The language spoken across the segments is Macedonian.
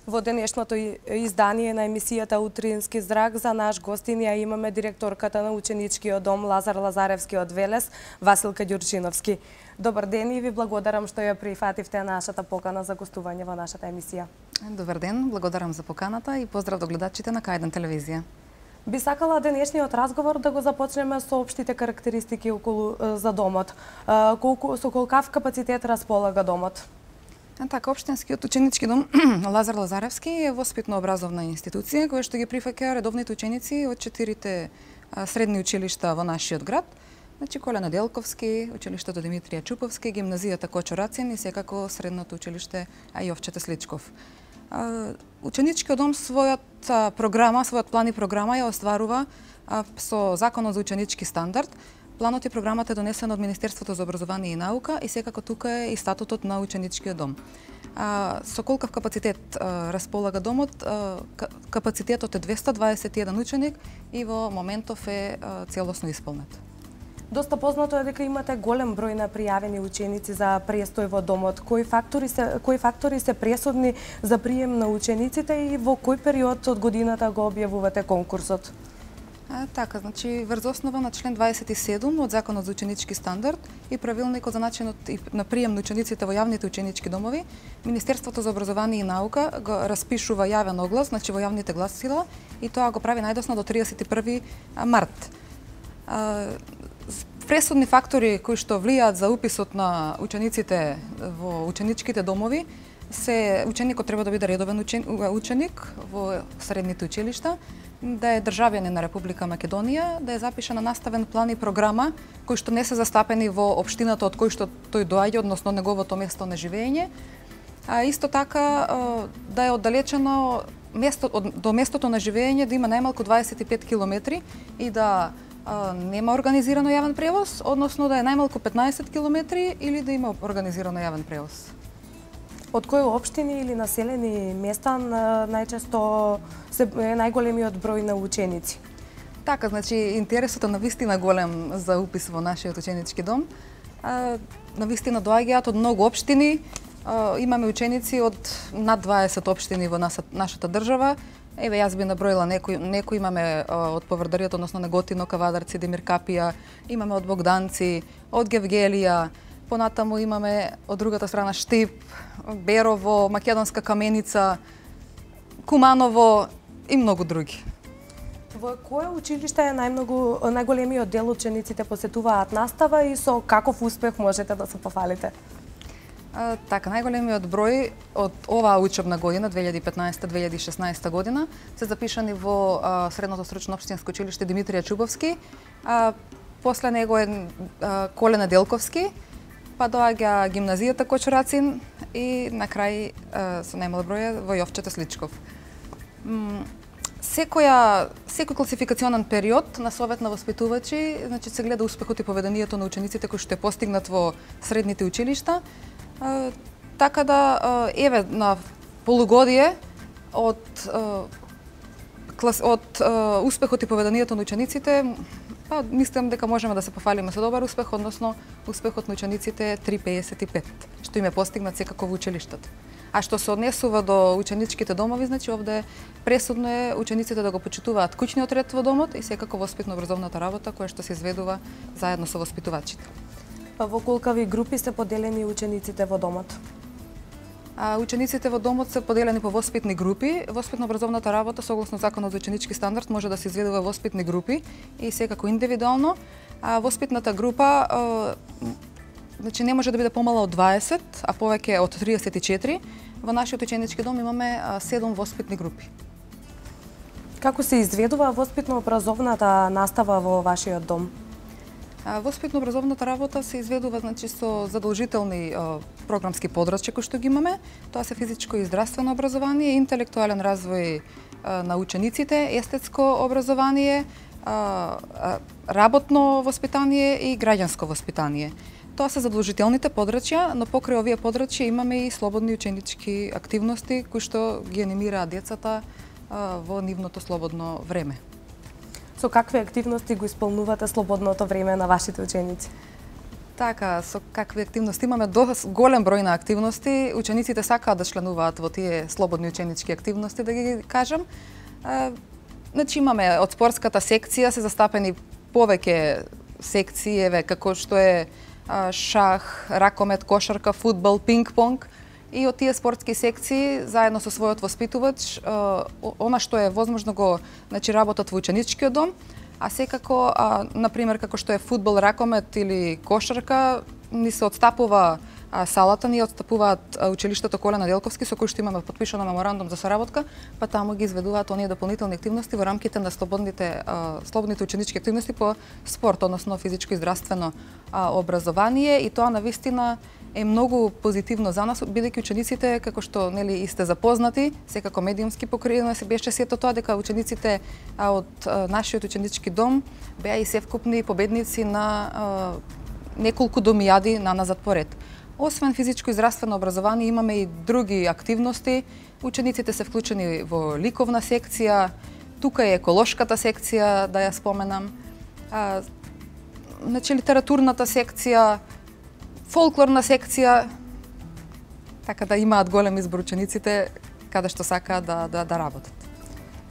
Во денешното издание на емисијата Утрински зрак за наш гостин ја имаме директорката на ученичкиот дом Лазар Лазаревски од Велес, Василка Ѓурчиновски. Добар ден и ви благодарам што ја прифативте нашата покана за гостување во нашата емисија. Добар ден, благодарам за поканата и поздрав до гледачите на К1 телевизија. Би сакала денешниот разговор да го започнеме со општите карактеристики околу за домот. Со колкав капацитет располага домот? Така, општинскиот ученички дом Лазар Лазаревски е воспитно-образовна институција која што ги прифаќа редовните ученици од 4 средни училишта во нашиот град. Значи Коле Неделковски, училиштето Димитрија Чуповски, гимназијата Кочо Рацин и секако средното училиште Јовчета Сличков. Ученичкиот дом својот план и програма ја остварува со Законот за ученички стандард. Планот и програмата е донесена од Министерството за образование и наука и секако тука е и статутот на ученичкиот дом. Со колкав капацитет располага домот? Капацитетот е 221 ученик и во моментов е целосно исполнет. Доста познато е дека имате голем број на пријавени ученици за престој во домот. Кои фактори се пресудни за прием на учениците и во кој период од годината го објавувате конкурсот? Така, значи врз основа на член 27 од Законот за ученички стандард и правилникот за начинот на прием на учениците во јавните ученички домови, Министерството за образование и наука го распишува јавен оглас, значи во јавните гласила, и тоа го прави најдосно до 31 март. Пресудни фактори кои што влијаат за уписот на учениците во ученичките домови се ученикот треба да биде редовен ученик во средните училишта, да е државјанин на Република Македонија, да е запишана наставен план и програма кои што не се застапени во општината од кој што тој доаѓа, односно неговото место на живење. Исто така да е оддалечено до местото на живење, да има најмалку 25 километри и да нема организирано јавен превоз, односно да е најмалку 15 километри или да има организирано јавен превоз. Од кои општини или населени места најчесто е најголемиот број на ученици? Така, значи интересот е навистина голем за упис во нашиот ученички дом. Навистина доаѓаат од многу општини. Имаме ученици од над 20 општини во нашата држава. Еве, јас би наброила некои имаме од Поврдаријата, односно Неготино, Кавадарци, Демиркапија, имаме од Богданци, од Гевгелија, понатаму имаме од другата страна Штип, Берово, Македонска Каменица, Куманово и многу други. Во кое училиште е најголемиот дел учениците посетуваат настава и со каков успех можете да се пофалите? Така, најголемиот број од оваа учебна година, 2015-2016 година, се запишани во Средното стручно општинско училиште Димитрија Чуповски, после него е Коле Неделковски, па доаѓа гимназијата Кочо Рацин и на крај со најмал број во Јовчета Сличков. Секој класификационен период на Совет на воспитувачи, значи се гледа успехот и поведението на учениците кои што е постигнат во средните училишта. Така да, еве, на полугодие од успехот и поведението на учениците, мислам дека можеме да се пофалиме со добар успех, односно успехот на учениците е 3,55, што им е постигнат секако во училиштата. А што се однесува до ученичките домови, значи овде пресудно е учениците да го почитуваат куќниот ред во домот и секако воспитно-образовната работа која што се изведува заедно со воспитувачите. Во колкави групи се поделени учениците во домот? Учениците во домот се поделени по воспитни групи. Воспитно-образовната работа согласно Законот за ученички стандард може да се изведува воспитни групи и секако индивидуално. Воспитната група значи не може да биде помала од 20, а повеќе од 34. Во нашиот ученички дом имаме 7 воспитни групи. Како се изведува воспитно-образовната настава во вашиот дом? Воспитно-образовната работа се изведува значи со задолжителни програмски подрачја кои што ги имаме. Тоа се физичко и здравствено образование, интелектуален развој на учениците, естетско образование, работно воспитание и граѓанско воспитание. Тоа се задолжителните подрачја, но покрај овие подрачја имаме и слободни ученички активности кои што ги анимираат децата во нивното слободно време. Со какви активности го исполнувате слободното време на вашите ученици? Така, со какви активности имаме голем број на активности. Учениците сакаат да членуваат во тие слободни ученички активности, да ги кажам. Значи имаме од спортската секција се застапени повеќе секции, еве како што е шах, ракомет, кошарка, фудбал, пинг-понг. И од тие спортски секции, заедно со својот воспитувач, она што е возможно го работат во ученичкиот дом, а секако, например, како што е фудбал, ракомет или кошарка, ни се отстапува салата, ни отстапуваат училиштето Коле Неделковски, со кој што имаме потпишано меморандум за соработка, па таму ги изведуваат оние дополнителни активности во рамките на слободните ученички активности по спорт, односно физичко и здравствено образование, и тоа навистина е многу позитивно за нас, бидејќи учениците, како што и сте запознати, секако медиумски покриено се беше сето тоа, дека учениците од нашиот ученички дом беа и севкупни победници на неколку домијади наназад поред. Освен физичко и здравствено образование, имаме и други активности. Учениците се вклучени во ликовна секција, тука е еколошката секција, да ја споменам, литературната секција, фолклорна секција, така да имаат голем избор учениците каде што сакаат да работат.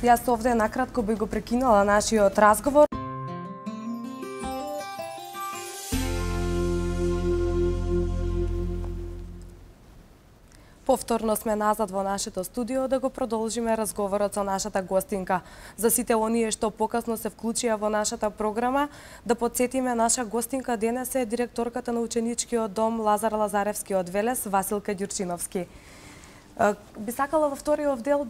Јас овде накратко би го прекинала нашиот разговор. Повторно сме назад во нашето студио да го продолжиме разговорот со нашата гостинка. За сите оние што покасно се вклучија во нашата програма, да потсетиме, наша гостинка денес е директорката на ученичкиот дом Лазар Лазаревски од Велес, Василка Ѓурчиновски. Би сакала во вториот дел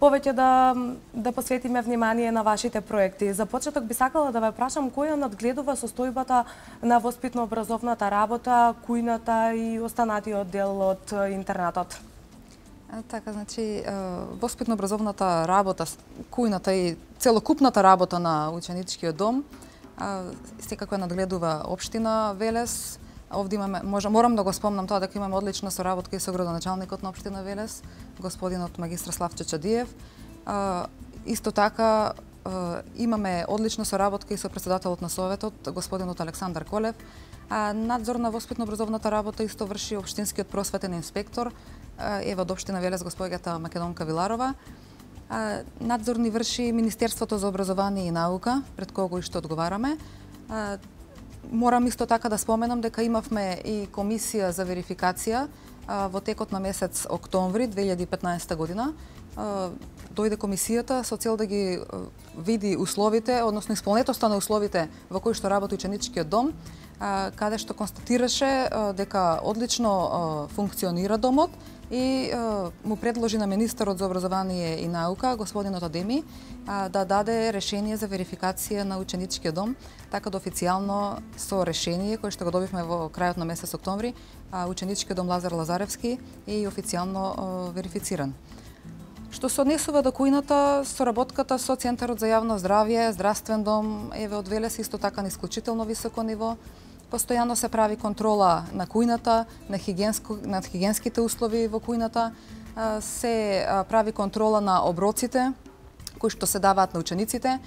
повеќе да посветиме внимание на вашите проекти. За почеток би сакала да ве прашам која надгледува состојбата на воспитно-образовната работа, кујната и останатиот дел од интернатот. Така, значи, воспитно-образовната работа, кујната и целокупната работа на ученичкиот дом секако надгледува општина Велес. Овде имаме, морам да го спомнам тоа дека имаме одлична соработка и со градоначалникот на општина Велес, господинот магистар Славчо Чадиев. Исто така имаме одлична соработка и со претседателот на советот, господинот Александар Колев. Надзор на воспитно-образовната работа исто врши општинскиот просветен инспектор, од општина Велес, госпоѓата Македонка Виларова. Надзор ни врши Министерството за образование и наука, пред кого и што одговараме. Морам исто така да споменам дека имавме и комисија за верификација во текот на месец октомври 2015 година. Дојде комисијата со цел да ги види условите, односно исполнетоста на условите во кои што работи ученичкиот дом, каде што констатираше дека одлично функционира домот и му предложи на министерот за образование и наука, господинот Адеми, да даде решение за верификација на ученичкиот дом, така да официјално со решение кое што го добивме во крајот на месец октомври, ученичкиот дом Лазар Лазаревски е официјално верифициран. Што се однесува до кујната, соработката со Центарот за јавно здравје, здравствен дом еве од Велес исто така на исклучително високо ниво. Постојано се прави контрола на кујната, на хигиенските услови во кујната, се прави контрола на оброците кои што се даваат на учениците,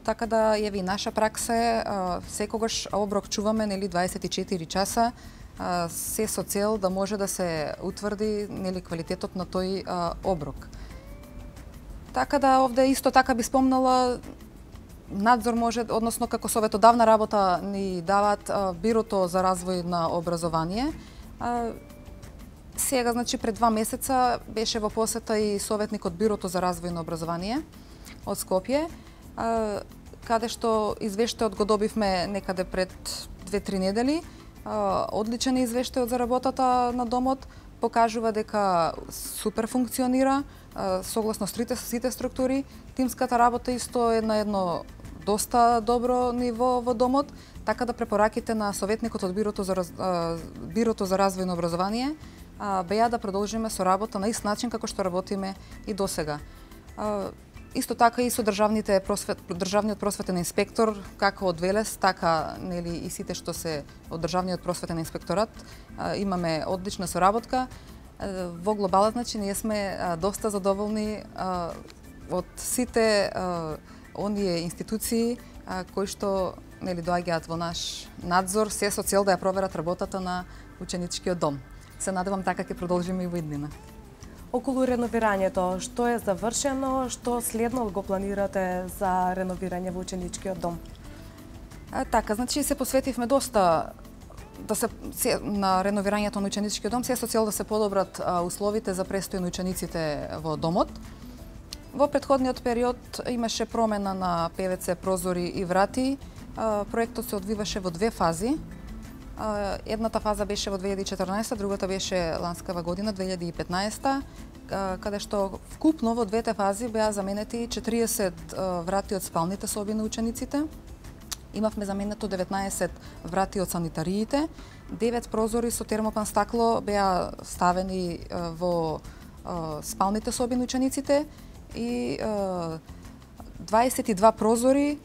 така да еве и наша пракса е секогаш оброк чуваме 24 часа, се со цел да може да се утврди квалитетот на тој оброк. Така да овде исто така би спомнала надзор може, односно како советодавна работа ни дават Бирото за развој на образование. Сега, значи, пред 2 месеца беше во посета и советникот Бирото за развој на образование од Скопје, каде што извештајот го добивме некаде пред 2-3 недели. Одличен е извештајот за работата на домот, покажува дека супер функционира, согласно сите структури. Тимската работа исто е на едно доста добро ниво во домот, така да препораките на советникот од Бирото за развој на образование беа да продолжиме со работа на ист начин како што работиме и досега. Исто така и со државниот просветен инспектор, како од Велес, така и сите што се од државниот просветен инспекторат, имаме одлична соработка. Во глобалот, значи, ние сме доста задоволни од сите оние институции кои што нели доаѓаат во наш надзор се со цел да ја проверат работата на ученичкиот дом. Се надевам така ќе продолжиме и во иднина. Околу реновирањето, што е завршено, што следно го планирате за реновирање во ученичкиот дом? Така, значи се посветивме доста на реновирањето на ученичкиот дом, се со цел да се подобрат условите за престој на учениците во домот. Во претходниот период имаше промена на ПВЦ прозори и врати. Проектот се одвиваше во две фази. Едната фаза беше во 2014, другата беше ланскава година 2015, каде што вкупно во двете фази беа заменети 40 врати од спалните соби на учениците. Имавме заменето 19 врати од санитариите, 9 прозори со термопан стакло беа ставени во спалните соби на учениците и 22 прозори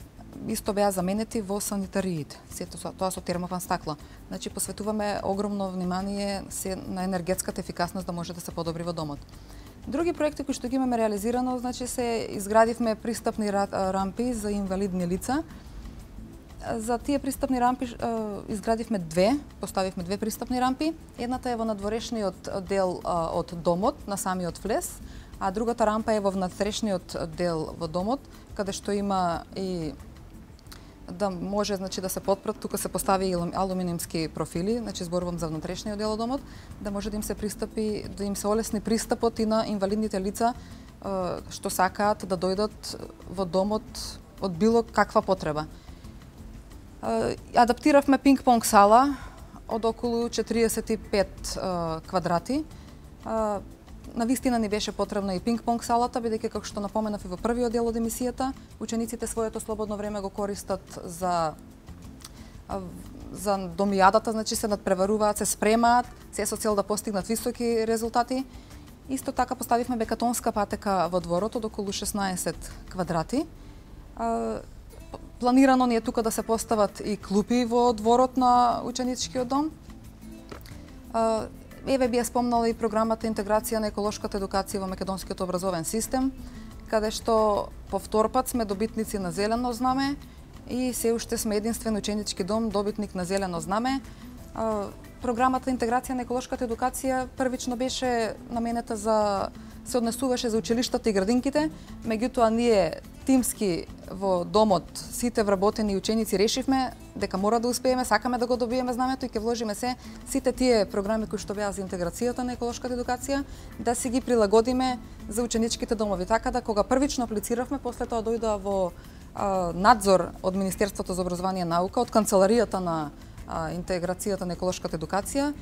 исто беа заменети во санитариите. Сето тоа со термопан стакло. Значи посветуваме огромно внимание на енергетската ефикасност да може да се подобри во домот. Други проекти кои што ги имаме реализирано, значи се изградивме пристапни рампи за инвалидни лица. За тие пристапни рампи поставивме две пристапни рампи. Едната е во надворешниот дел од домот, на самиот влез, а другата рампа е во внатрешниот дел во домот, каде што има и да може значи да се потпрат, тука се постави и алуминиумски профили, значи зборувам за внатрешниот дел од домот, да може да им се пристапи, да им се олесни пристапот и на инвалидните лица што сакаат да дојдат во домот од било каква потреба. Адаптиравме пинг-понг сала од околу 45 квадрати. Навистина ни беше потребна и пинг-понг салата, бидејќи како што напоменав и во првиот дел од емисијата, учениците своето слободно време го користат за домијадата, значи се надпреваруваат, се спремаат, се со цел да постигнат високи резултати. Исто така поставивме бекатонска патека во дворот од околу 16 квадрати. Планирано ни е тука да се постават и клупи во дворот на ученичкиот дом. Еве би ја спомнала и програмата Интеграција на еколошката едукација во македонскиот образовен систем, каде што по втор пат сме добитници на зелено знаме и се уште сме единствен ученички дом добитник на зелено знаме. Програмата Интеграција на еколошката едукација првично беше наменета се однесуваше за училиштата и градинките, меѓутоа ние тимски во домот сите вработени ученици решивме дека мора да успееме, сакаме да го добиеме знамето и ќе вложиме сите тие програми кои што беа за интеграцијата на еколошката едукација да си ги прилагодиме за ученичките домови. Така да кога првично аплициравме, после тоа дојдоа во надзор од Министерството за образование и наука, од канцеларијата на интеграцијата на еколошката едукација,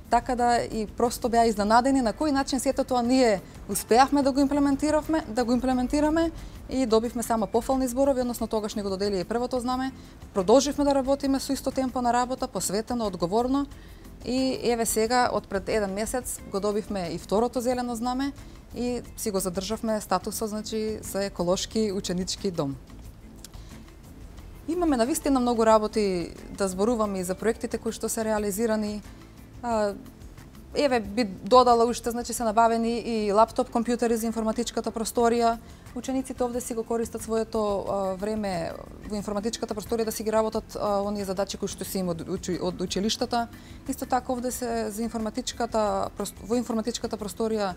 така да и просто беа изненадени на кој начин сето тоа ние успеавме да го имплементираме и добивме само пофални зборови, односно тогаш ни го додели и првото знаме. Продолживме да работиме со исто темпо на работа, посветено, одговорно и еве сега од пред еден месец го добивме и второто зелено знаме и си го задржавме статусот, значи за еколошки ученички дом. Имаме навистина многу работи да зборуваме и за проектите кои што се реализирани. Еве би додала уште, значи се набавени и лаптоп компјутери за информатичката просторија. Учениците овде си го користат своето време во информатичката просторија да си ги работат оние задачи кои што се им од училиштата. Исто така овде се за во информатичката просторија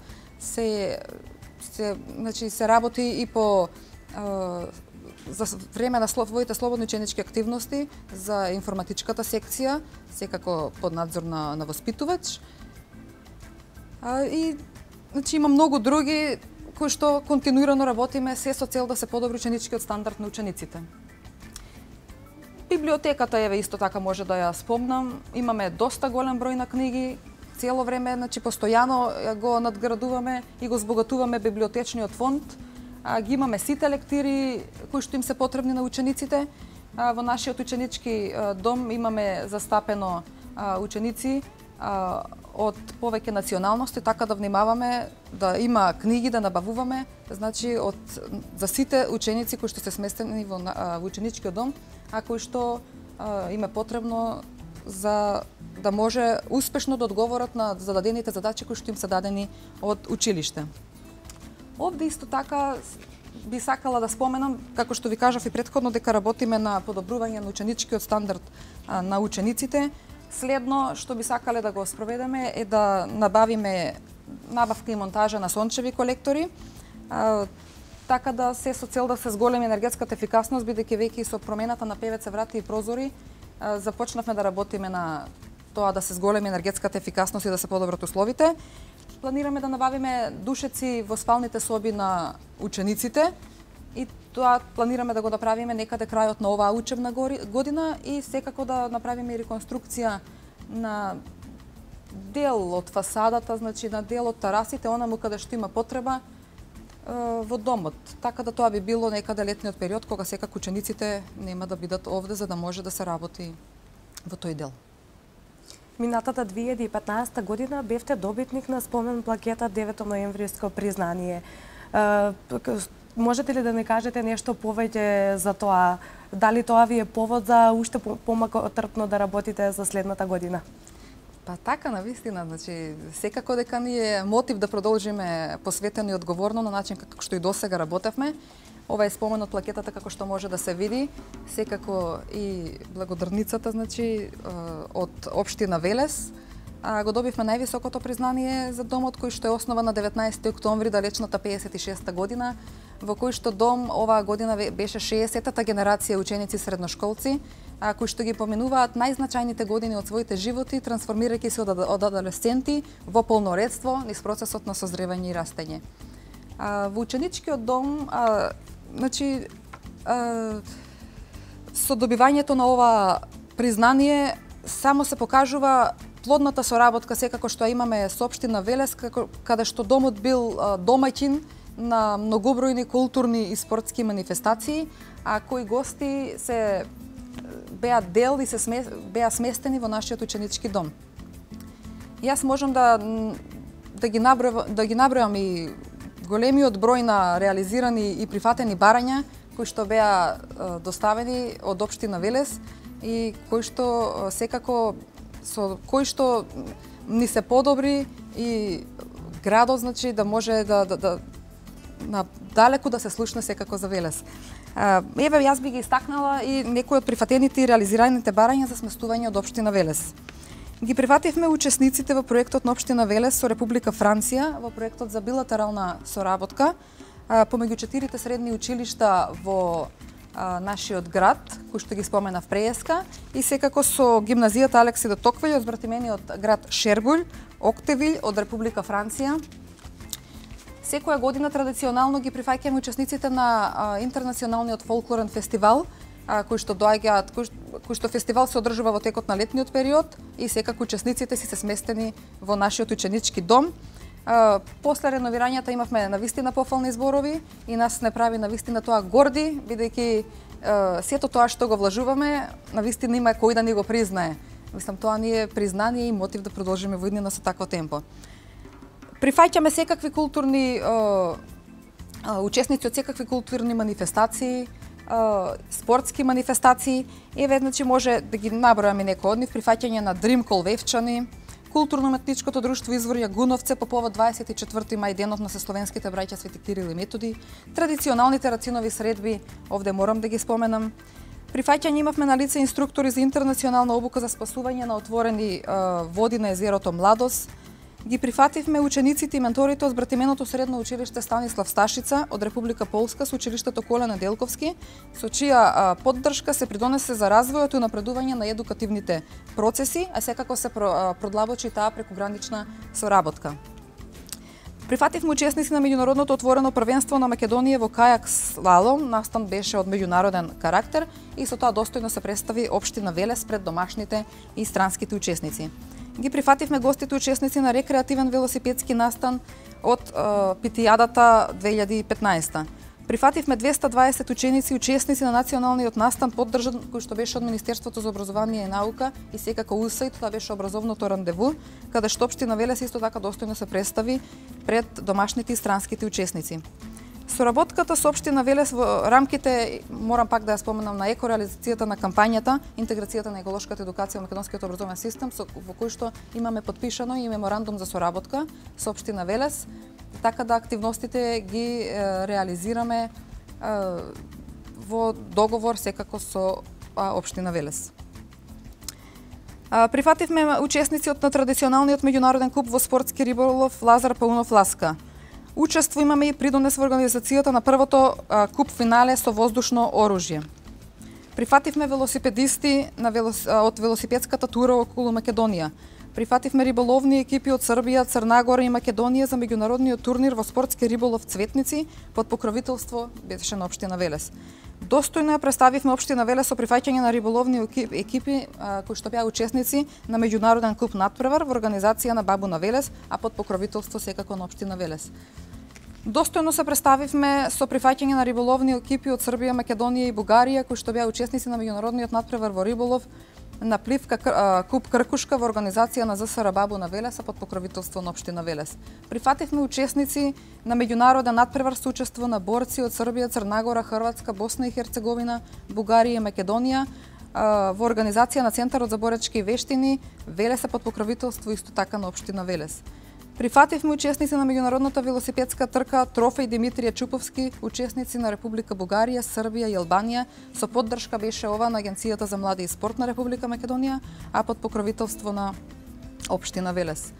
значи се работи и по за време на своите слободни ученички активности за информатичката секција, секако под надзор на воспитувач. И значи има многу други кои што континуирано работиме се со цел да се подобри ученичкиот стандард на учениците. Библиотеката еве исто така може да ја спомнам. Имаме доста голем број на книги, цело време, значи постојано го надградуваме и го збогатуваме библиотечниот фонд. Ги имаме сите лектири кои што им се потребни на учениците. Во нашиот ученички дом имаме застапено ученици од повеќе националности, така да внимаваме да има книги да набавуваме, значи за сите ученици кои што се сместени во ученичкиот дом, а кои што им е потребно за да може успешно да одговорат на зададените задачи кои што им се дадени од училиште. Овде исто така би сакала да споменам, како што ви кажав и претходно, дека работиме на подобрување на ученичкиот стандард на учениците. Следно што би сакале да го спроведеме е да набавиме набавка и монтажа на сончеви колектори, така да се со цел да се зголеми енергетската ефикасност, бидејќи веќе со промената на ПВЦ врати и прозори започнавме да работиме на тоа да се зголеми енергетската ефикасност и да се подобрат условите. Планираме да набавиме душеци во спалните соби на учениците и тоа планираме да го направиме некаде крајот на оваа учебна година и секако да направиме реконструкција на дел од фасадата, значи на дел од терасите, онаму каде што има потреба во домот. Така да тоа би било некаде летниот период кога секако учениците нема да бидат овде за да може да се работи во тој дел. Минатата 2015 година бевте добитник на спомен плакета 9 ноемвриско признание. Можете ли да не кажете нешто повеќе за тоа? Дали тоа ви е повод за уште помалку трпно да работите за следната година? Па така, навистина, значи секако дека ни е мотив да продолжиме посветено и одговорно на начин како што и досега работевме. Ова е спомен од плакетата како што може да се види, секако и благодарницата, значи од општина Велес. Го добивме највисокото признание за домот кој што е основан на 19 октомври далечната 56-та година, во кој што дом оваа година беше 60-та генерација ученици средношколци, кои што ги поминуваат најзначајните години од своите животи, трансформирајќи се од адолесценти во полноредство низ процесот на созревање и растење. Во ученичкиот дом, значи, со добивањето на ова признание само се покажува плодната соработка секако што имаме со општина Велес, каде што домот бил домаќин на многобројни културни и спортски манифестации, а кои гости се беа дел и беа сместени во нашиот ученички дом. Јас можам да ги набројам и големиот број на реализирани и прифатени барања кои што беа доставени од општина Велес и кои што секако со кои што ни се подобри и градот, значи да може да далеку да се слушне секако за Велес. Еве јас би ги истакнала и некои од прифатените и реализираните барања за сместување од општина Велес. Ги прифативме учесниците во проектот на општина Велес со Република Франција во проектот за билатерална соработка помеѓу 4 средни училишта во нашиот град, кој што ги споменав преска, и секако со гимназијата Алекси де Токвељ од збратимениот град Шербулј, Октевилј од Република Франција. Секоја година традиционално ги прифаќаме учесниците на интернационалниот фолклорен фестивал, кој што фестивал се одржува во текот на летниот период и секако учесниците си се сместени во нашиот ученички дом. После реновирањата имавме навистина пофални зборови и нас не прави навистина тоа горди, бидејќи сето тоа што го влажуваме, навистина има кој да ни го признае. Мислам, тоа ни е признание и мотив да продолжиме во иднина со такво темпо. Прифаќаме секакви културни учесници од секакви културни манифестации, спортски манифестации. Еве, значи, може да ги набројаме некои од нив. Прифаќање на Дримкол Вевчани, Културно-уметничкото друштво Извор Јагуновце по повод 24 мај, денот на сесловенските браќа Свети Кирил и Методи, традиционалните рацинови средби, овде морам да ги споменам. Прифаќање имавме на лице инструктори за интернационална обука за спасување на отворени води на езерото Младост. Ги прифативме учениците и менторите од збратименото средно училиште Станислав Сташица од Република Полска со училиштето Коле Неделковски, со чија поддршка се придонесе за развојот и напредување на едукативните процеси, а секако се продлабочи таа прекугранична соработка. Прифативме учесници на меѓународното отворено првенство на Македонија во кајак слалом, настан беше од меѓународен карактер и со тоа достојно се представи општина Велес пред домашните и странските учесници. Ги прифативме гостите учесници на рекреативен велосипедски настан од Питијадата 2015. Прифативме 220 ученици и учесници на националниот настан поддржан кој што беше од Министерството за образование и наука и секако УСАИД, тоа беше образовното рандеву, каде што општина Велес исто така достојно се представи пред домашните и странските учесници. Соработката со општина Велес во рамките, морам пак да ја споменам, на екореализацијата на кампањата, интеграцијата на еколошката едукација во македонскиот образовен систем, во кој што имаме подпишано и меморандум за соработка со општина Велес, така да активностите ги реализираме во договор секако со општина Велес. Прифативме учесници од традиционалниот меѓународен клуб во спортски риболов Лазар Паунов Ласка. Учество имаме и придонес во организацијата на првото куп финале со воздушно оружје. Прифативме велосипедисти од велосипедската тура околу Македонија. Прифативме риболовни екипи од Србија, Црна Гора и Македонија за меѓународниот турнир во спортски риболов Цветници под покровителство беше на општина Велес. Достојно ја представивме општина Велес со прифаќање на риболовни екипи кои што беа учесници на меѓународен куп Натпревар во организација на Бабу на Велес, а под покровителство секако на општина Велес. Достојно се представивме со прифаќање на риболовни екипи од Србија, Македонија и Бугарија кои што беа учесници на меѓународниот натпревар во риболов на пливка куп Кркушка во организација на ЗСР Бабу на Велес, под покровителство на општина Велес. Прифативме учесници на меѓународен натпревар со учество на борци од Србија, Црна Гора, Хрватска, Босна и Херцеговина, Бугарија и Македонија во организација на Центарот за боречки вештини Велес, под покровителство исто така на општина Велес. Прифативме учесници на меѓународната велосипедска трка Трофеј Димитрија Чуповски, учесници на Република Бугарија, Србија и Албанија, со поддршка беше ова на Агенцијата за млади и спорт на Република Македонија, а под покровителство на општина Велес.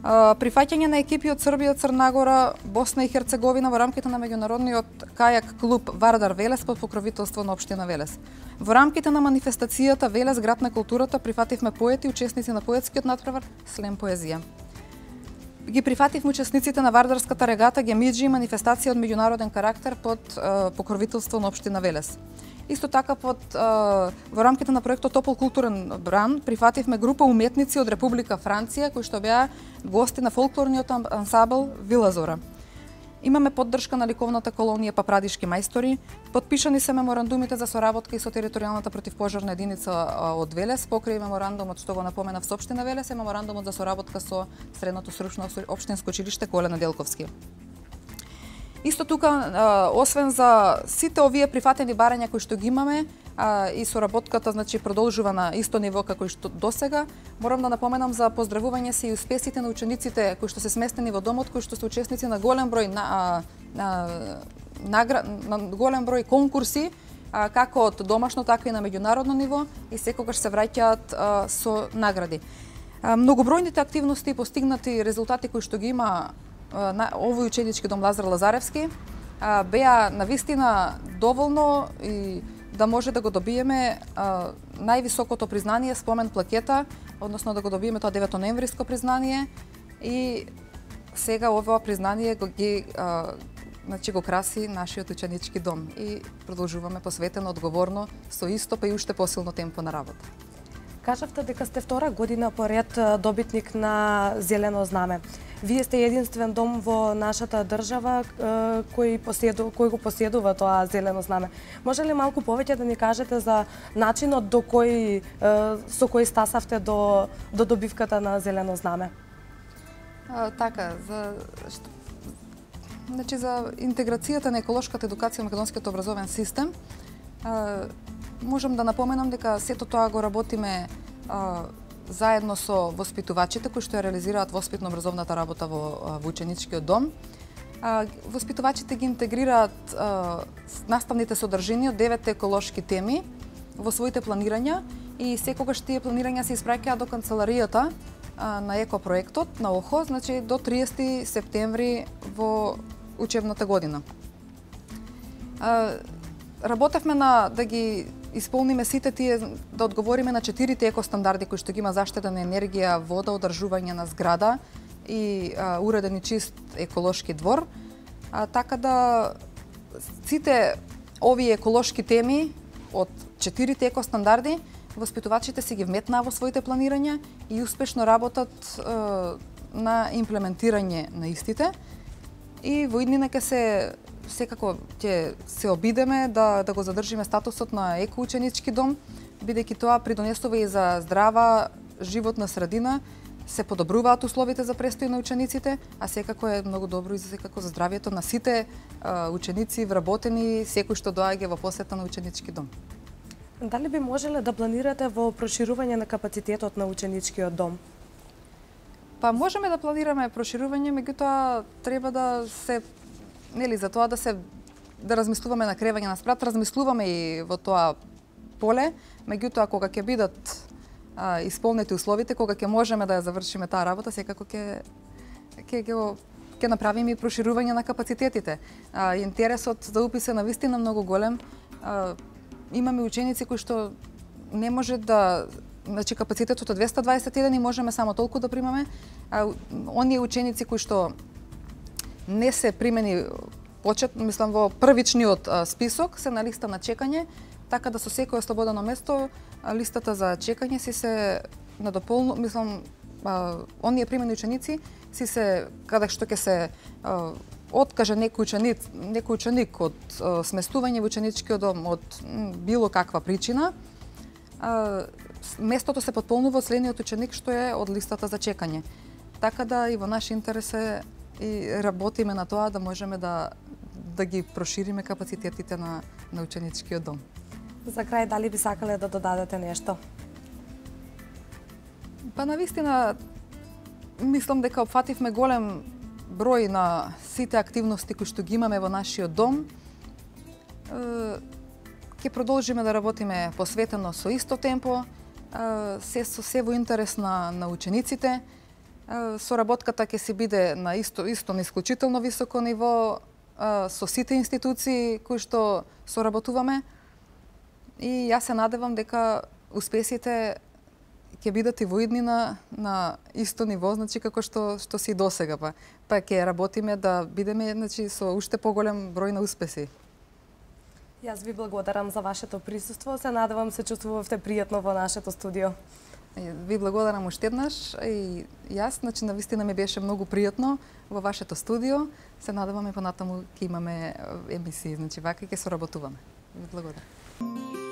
Прифаќање на екипи од Србија, Црна Гора, Босна и Херцеговина во рамките на меѓународниот кајак клуб Вардар Велес под покровителство на општина Велес. Во рамките на манифестацијата Велес град на културата прифативме поети, учесници на поетскиот натпревар Слем поезија. Ги прифативме учесниците на Вардарската регата Гемиџи, манифестација од меѓународен карактер под покровителство на општина Велес. Исто така во рамките на проектот Топол културен бран прифативме група уметници од Република Франција кои што беа гости на фолклорниот ансамбл Вила Зора. Имаме поддршка на ликовната колонија Папрадишки мајстори, подпишани се меморандумите за соработка и со територијалната противпожарна единица од Велес, покрај меморандумот што го напоменав со општина Велес и меморандумот за соработка со средното стручно општинско училиште Коле Неделковски. Исто тука, освен за сите овие прифатени барања кои што ги имаме, и соработката продолжува на исто ниво како и што досега, морам да напоменам за поздравување се и успесите на учениците кои што се сместени во домот, кои што се учесници на голем број голем број конкурси, како од домашно, така и на меѓународно ниво, и секогаш се враќаат со награди. Многобројните активности и постигнати резултати кои што ги има овој ученички дом Лазар Лазаревски беа навистина доволно и да може да го добиеме највисокото признание, спомен плакета, односно да го добиеме тоа 9 ноемвриско признание, и сега ова признание го краси нашиот ученички дом и продолжуваме посветено, одговорно, со исто па и уште посилно темпо на работа. Кажавте дека сте втора година поред добитник на Зелено знаме. Вие сте единствен дом во нашата држава кој го поседува тоа Зелено знаме. Може ли малку повеќе да ни кажете за начинот со кој стасавте до добивката на Зелено знаме? Така, за интеграцијата на еколошката едукација во македонскиот образовен систем, можам да напоменам дека сето тоа го работиме заедно со воспитувачите кои што ја реализираат воспитно-образовната работа во ученичкиот дом. Воспитувачите ги интегрираат наставните содржини од 9 еколошки теми во своите планирања и секогаш тие планирања се испраќаат до канцеларијата на екопроектот на ОХО, значи до 30 септември во учебната година. Работевме да ги исполниме сите тие, да одговориме на 4 екостандарди кои што ги има заштита на енергија, вода, одржување на зграда и уреден и чист еколошки двор. Така да сите овие еколошки теми од 4 екостандарди воспитувачите си ги вметнаа во своите планирања и успешно работат на имплементирање на истите. И во иднина секако ќе се обидеме да го задржиме статусот на екоученички дом, бидејќи тоа придонесува и за здрава животна средина, се подобруваат условите за престој на учениците, а секако е многу добро и за здравието на сите ученици, вработени, секој што доаѓа во посета на ученички дом. Дали би можеле да планирате во проширување на капацитетот на ученичкиот дом? Па можеме да планираме проширување, меѓутоа треба да се за тоа да размислуваме на кревање на спрат, размислуваме и во тоа поле, меѓутоа кога ќе бидат исполнети условите, кога ќе можеме да ја завршиме таа работа, секако ќе направиме и проширување на капацитетите. Интересот за упис е навистина многу голем. Имаме ученици кои што не може да, значи капацитетот е 221 и можеме само толку да примаме. Оние ученици кои што не се примени мислам во првичниот список се на листа на чекање, така да со секое слободено место листата за чекање си се надополнува, мислам, оние примени ученици си се, каде што ќе се откаже некој ученик од сместување во ученичкиот дом од било каква причина, местото се потполнува од следниот ученик што е од листата за чекање. Така да и во наш интерес е и работиме на тоа да можеме да ги прошириме капацитетите на ученичкиот дом. За крај, дали би сакале да додадете нешто? Па навистина мислам дека опфативме голем број на сите активности кои што ги имаме во нашиот дом. Ќе продолжиме да работиме посветено со исто темпо, се во интерес на учениците. Соработката ќе се биде на исто на исклучително високо ниво со сите институции кои што соработуваме. И јас се надевам дека успесите ќе бидат и во иднина на исто ниво, значи како што си досега, па ќе работиме да бидеме, значи, со уште поголем број на успеси. Јас ви благодарам за вашето присуство, се надевам се чувствувавте пријатно во нашето студио. Ви благодарам уште еднаш и јас, значи навистина ми беше многу пријатно во вашето студио. Се надеваме понатаму ќе имаме емисии, значи вака ќе соработуваме. Ви благодарам.